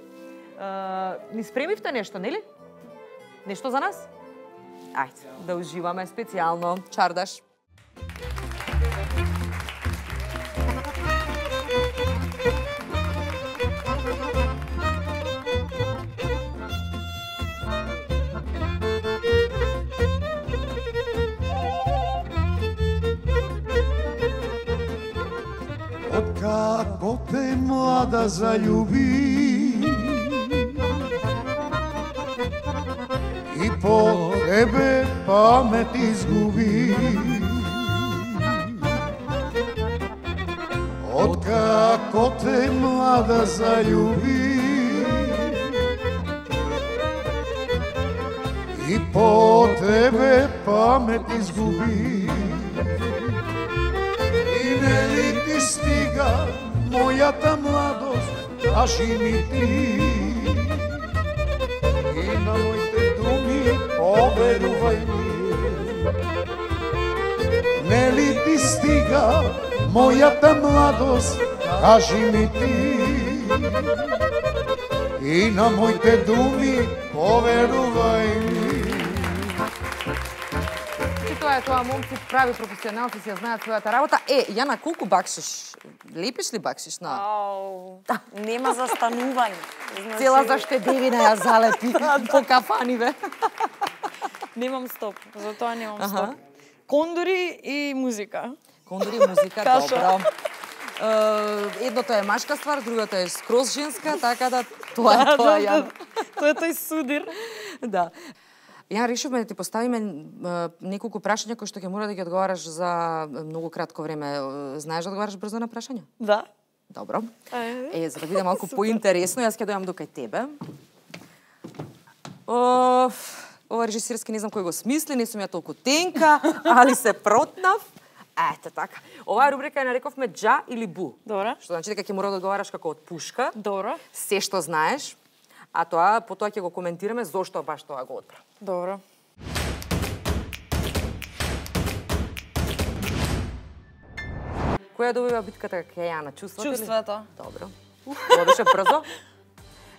Ни спремивте нешто, нели? Нешто за нас? Ајде, да уживаме специјално. Чардаш. Како те млада залюби и по тебе памет изгуби. Откако те млада залюби и по тебе памет изгуби. Нели ти стига мојата младост, кажи ми ти. И на моите думи поверувај ми. Нели ти стига мојата младост, кажи ми ти. И на моите думи поверувај ми. Тоа момци прави професионалци си ја знаат својата работа. Јана, колку бакшиш? Лепиш ли бакшиш на? Нема застанување. Цела заштедевина ја залепи по кафаниве. Немам стоп, за тоа немам стоп. Кондори и музика. Кондори и музика, добро. Едното е машка ствар, другото е скроз женска, така да тоа е тоа, Јана. Тоа е тој судир. Да. Ја решивме да ти поставиме неколку прашања кои што ќе мора да ги одговараш за многу кратко време. Знаеш да одговараш брзо на прашања? Да. Добро. За да биде малку поинтересно, јас ќе дојам до кај тебе. Ова режисерски не знам кој го смисли, не сум ја толку тенка, али се протнав. Ете така. Оваа рубрика ја нарековме джа или бу. Добро. Што значи дека ќе мора да одговараш како од пушка. Добро. Се што знаеш. А тоа, потоа ќе го коментираме зошто баш тоа го одбра. Добро. Која добива битката кај Јана? Чувството? Чувството. Добро. Ова беше брзо.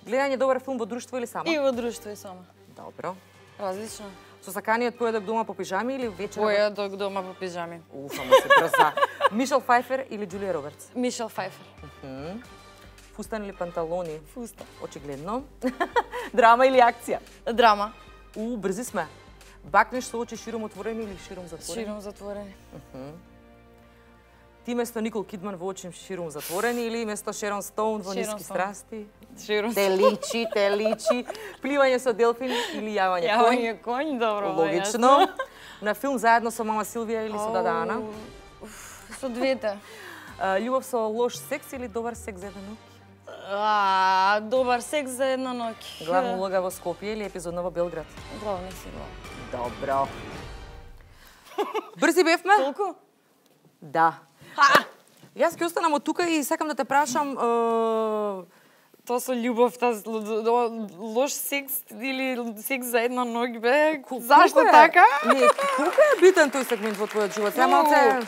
Гледање добар филм во друштво или само? И во друштво и само. Добро. Различно. Со саканиот поедок дома по пижами или вечер? Поедок дома по пижами. Ама се брза. Мишел Пфајфер или Џулија Робертс? Мишел Пфајфер. Фустан или панталони? Фустан. Очигледно. Драма или акција? Драма. Брзи сме. Бакнеш со очи широм отворени или широм затворени? Широм затворени. Ти место Никол Кидман во Очи ширум затворени или место Шерон Стоун во Ниски страсти? Ширум. Те личи. Пливање со делфин или јавање конј? Јавање конј, добро. Логично. На филм заедно со мама Силвија или со дада Ана? Со двете. Љубов со лош секс или добар секс за една ноќ? Добар секс за една ноќ. Главна улога во Скопје или епизодна во Белград? Главна си го. Добро. Брзи бевме? Толку? Да. Јас ќе останам од тука и сакам да те прашам Тоа со љубовта, лош секс или секс за една ноќ бе? Зашто така? Не, колку е битен тој сегмент во твојот живот? Сега малце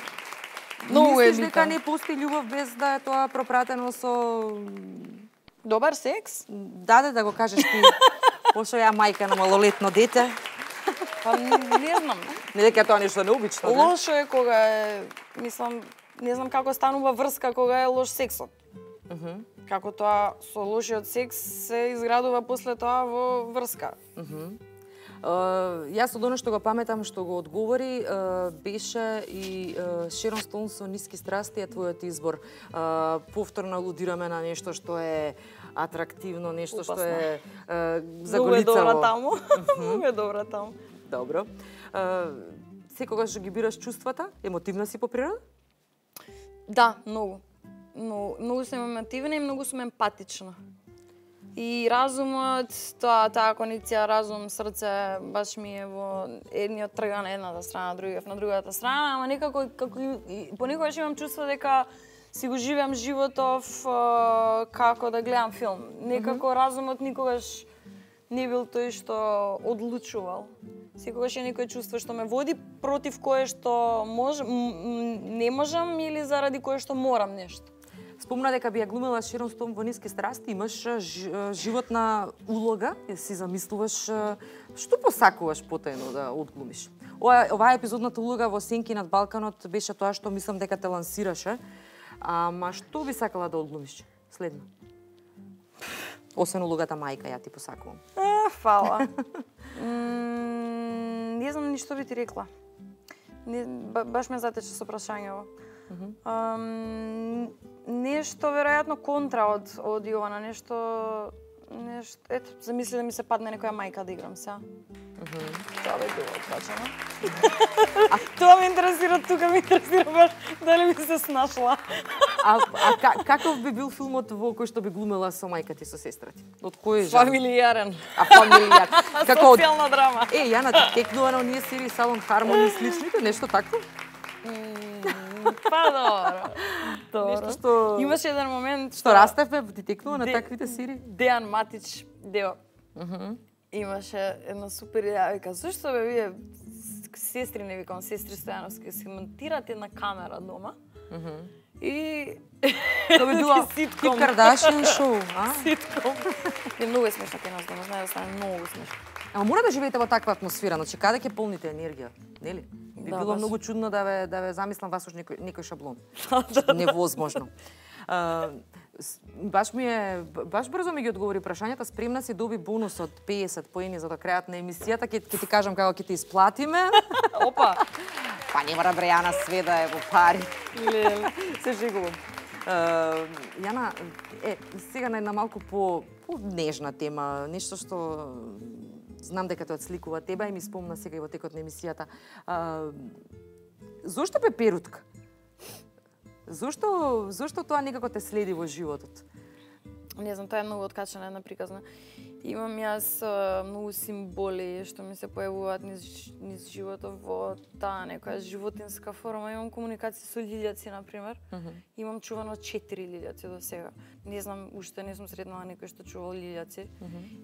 Многу е мислиш дека битен. не постои љубов без да е тоа пропратено со Добар секс? даде да го кажеш ти, пошто ја мајка на малолетно дете. Па не знам. Не дека тоа нешто необично, да? Лошо е кога е, мислам, не знам како станува врска кога е лош сексот. Како тоа со лошиот секс се изградува после тоа во врска. Јас од оно што го паметам што го одговори беше и Шерон Стоун со Ниски страсти е твојот избор. Повторно алудираме на нешто што е атрактивно, нешто што е заголицаво. Многу е добра таму. Многу е добра таму. Добро. Секогаш ги бираш чувствата? Емотивна си по природа? Да, многу. Многу сум емотивна и многу сум емпатична. И разумот, таа кондиција разум, срце, баш ми е во едниот трга на едната страна, другиот на другата страна, ама некако понекогаш имам чувство дека си го живеам животов како да гледам филм. Некако разумот никогаш не бил тој што одлучувал. Секогаш е некој чувство што ме води против кое што не можам или заради кое што морам нешто. Спомна дека би ја глумела Шерон Стоун во Ниски страсти, имаш животна улога, си замислуваш што посакуваш потајно да одглумиш. Оваа епизодната улога во Сенки над Балканот беше тоа што мислам дека те лансираше. Ама што би сакала да одглумиш следно? Освен улогата мајка, ја ти посакувам. Фала. Не знам ни што би ти рекла. Баш ме затече со прашањево. Нешто веројатно контра од Јована, нешто ето, замисли да ми се падне некоја мајка да играм сега. Тоа би било откачано. Тоа ме интересира, тука ме интересира баш дали ми се snашла. Каков би бил филмот во кој што би глумела со мајка ти со сестра ти? Од кој жанр? Фамилијарен. Фамилијар. Социјална драма. Јана ти текнува на оние серии Салон Хармони и сличните, нешто такво? Па добро. Нешто што Имаше еден момент што растевме, ти текнува на таквите серии? Дејан Матич, Део. Имаше една супер идеја, вика, зашто бе вие сестри, не викам, сестри Стојановски, си монтирате една камера дома и тоа би било ситком. Ким Кардашиан шоу, а? Ситком. И многу е смешно кај нас дома, знае да стане многу смешно. Ама мора да живеете во таква атмосфера, значи каде ќе полните енергија, нели? Би Да, било баш. многу чудно да ве замислам вас уж некој шаблон. Невозможно. Баш брзо ми ги одговори прашањата, спремна си доби бонус од 50 поени за до крајот на емисијата, ќе ти кажам како ќе ти исплатиме. Опа. Па не мора Брејана све да е во пари. Леле, се жегувам. Јана, сега на една малку по нежна тема, нешто што знам дека тоа отсликува тебе и ми спомна сега и во текот на емисијата. Зошто пеперутка? Зошто тоа некако те следи во животот? Не знам, тоа е многу откачана една приказна. Имам јас многу символи што ми се појавуваат низ животот во таа некоја животинска форма. Имам комуникација со лилјаци, например. Имам чувано 4 лилјаци до сега. Не знам, уште не сум сретнала некој што чувал лилјаци.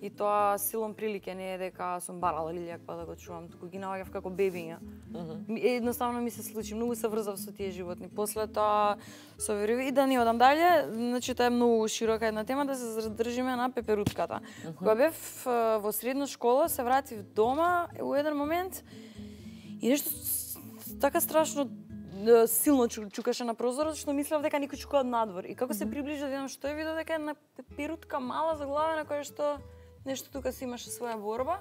И тоа силом прилике, не е дека сум барала лилјак па да го чувам, туку ги наоѓав како бебиња. Едноставно ми се случи, многу се врзав со тие животни. После тоа со вериви и да не одам дале, значи тоа е многу широка една тема, да се задржиме на пеперутката. Кога бев во средна школа, се вратив дома у еден момент и нешто така страшно силно чукаше на прозорот, што мислев дека некој чука од надвор. И како се приближи да видам што е, видов дека една пеперутка мала заглавена која што нешто тука си имаше своја борба.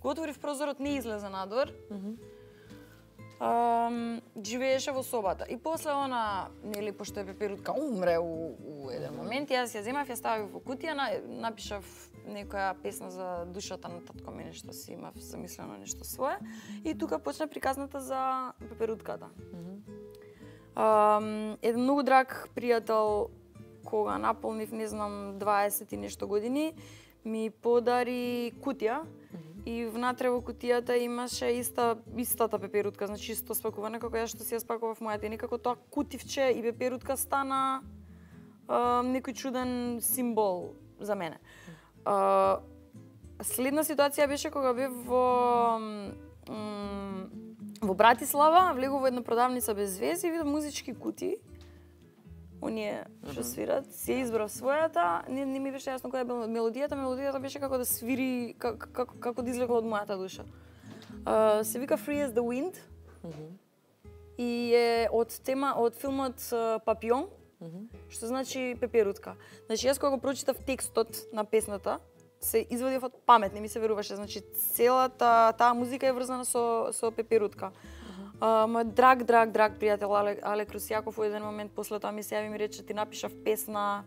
Го отворив прозорот, не излезе надвор. живееше во собата. И после она, нели, пошто е Пеперутка умре у еден момент, јас ја земав, ја ставив во кутија, напишав некоја песна за душата на татко ми, нешто си имав замислено, нешто свое. И тука почна приказната за Пеперутката. Еден многу драг пријател, кога наполнив, не знам, 20 и нешто години, ми подари кутија. И внатре во кутијата имаше истата пеперутка, значи исто спакуване како ја што си ја спакував мојата. И некако тоа кутивче и пеперутка стана некој чуден символ за мене. Следна ситуација беше кога бев во Братислава, влегов во една продавница без вези и видов музички кутии. Оние што свират, си избрав својата, не ми беше јасно која е мелодијата. Мелодијата беше како да свири, како да излегла од мојата душа. Се вика Free as the Wind и е од филмот Папион, што значи пеперутка. Значи јас кога го прочитав текстот на песната, се извадив од памет, не ми се веруваше. Значи целата таа музика е врзана со пеперутка. Мој драг пријател Але Крусјаков во еден момент после тоа ми се јави и ми рече ти напишав песна,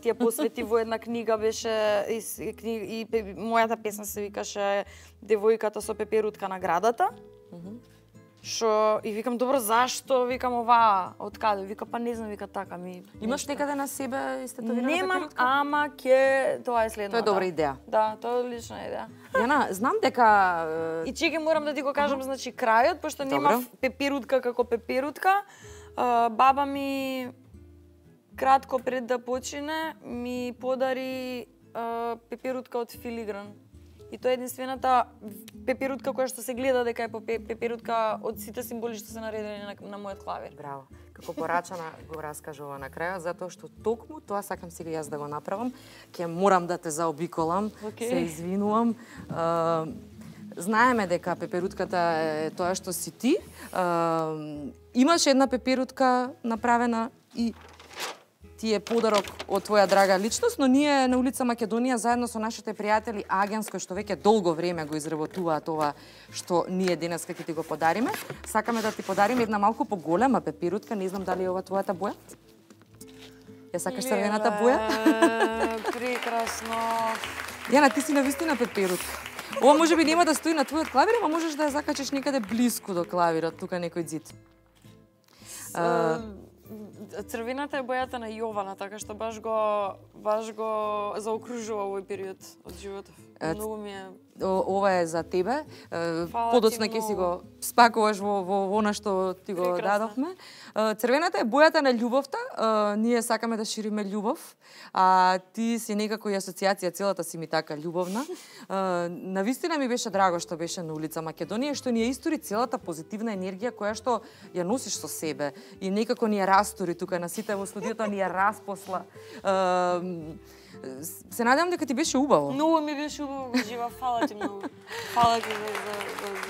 ти ја посвети во една книга беше и мојата песна се викаше Девојката со пеперутка на градата. Што и викам добро зашто викам ова од каде? Вика па не знам, вика така ми. Имаш некаде на себе истетовирана пеперутка? Немам, ама тоа е следната. Тоа е добра идеја. Да, тоа е одлична идеја. Јана, знам дека И чеки морам да ти го кажам, значи крајот, пошто немав пеперутка како пеперутка. Баба ми кратко пред да почине ми подари пеперутка од филигран. И тоа е единствената пеперутка која што се гледа дека е пеперутка од сите символи што се наредени на мојот клавир. Браво. Како порачана го раскажува на крајот, затоа што токму тоа сакам сега јас да го направам. Ќе морам да те заобиколам, се извинувам. Знаеме дека пеперутката е тоа што си ти. Имаш една пеперутка направена и ти е подарок од твоја драга личност, но ние на улица Македонија заедно со нашите пријатели Агенс, кои што веќе долго време го изработуваат ова што ние денеска ќе ти го подариме, сакаме да ти подариме една малку поголема пеперутка, не знам дали е ова твојата боја? Ја сакаш црвената боја? Прекрасно. Јана, ти си навистина пеперутка. Ова можеби нема да стои на твојот клавир, ама можеш да ја закачиш некаде блиску до клавирот, тука некој зид. Црвената е бојата на Јована, така што баш го заокружува овој период од животов. Многу ми е. Ова е за тебе. Подоцна ќе си го спакуваш во она што ти го дадовме. Црвената е бојата на љубовта. Ние сакаме да шириме љубов, а ти си некако и асоциација, целата си ми така љубовна. Навистина ми беше драго што беше на улица Македонија, што ни ја истори целата позитивна енергија која што ја носиш со себе и некако ни ја растори тука на сите во студиото, ни ја распосла. Се надевам дека ти беше убаво. Многу ми беше убаво, го жива, фала ти многу. Фала ти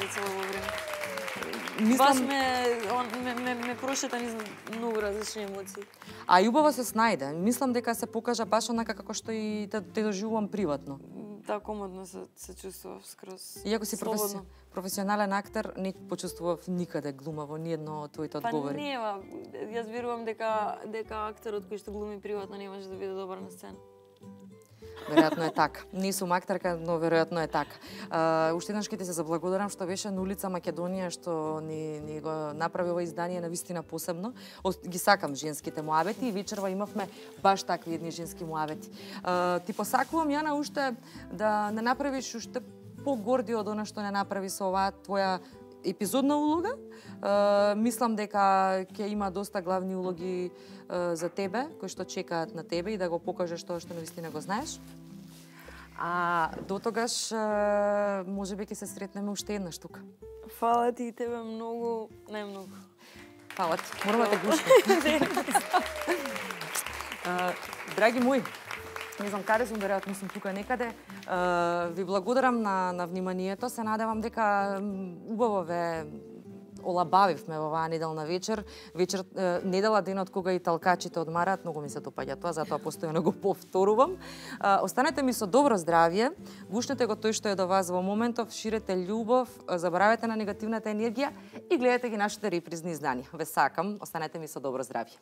за цело време. Баш ме прошета низ многу различни емоции. А и убаво се снајде. Мислам дека се покажа баш онака како што и те доживувам приватно. Да, комодно се чувствував скроз. Иако си професионален актер, не почувствував никаде глума во ниедно од твоите одговори. Па нема. Јас верувам дека актерот кој што глуми приватно не може да биде добар на сцена. Веројатно е така. Не сум актерка, но веројатно е така. Уште еднаш ќе ти се заблагодарам што беше на улица Македонија, што ни го направи ова издание навистина посебно. Ги сакам женските муабети и вечерва имавме баш такви едни женски муабети. Ти посакувам, Јана, уште да не направиш уште погорди од она што не направи со оваа твоја епизодна улога. Мислам дека ќе има доста главни улоги за тебе, кои што чекаат на тебе и да го покажеш тоа што навистина го знаеш. А до тогаш можеби ќе се сретнеме уште еднаш тука. Фала ти и тебе многу, најмногу. Фала ти. Морам да те гушкам. Драги мои, не знам каде сум, веројатно сум тука некаде. Ви благодарам на вниманието. Се надевам дека убаво ве олабавивме во оваа неделна вечер. Недела денот кога и талкачите одмараат, многу ми се допаѓа тоа, затоа постојано го повторувам. Останете ми со добро здравје, гушнете го тој што е до вас во моментов, ширете љубов, заборавете на негативната енергија и гледате ги нашите репризни изданија. Ве сакам, останете ми со добро здравје.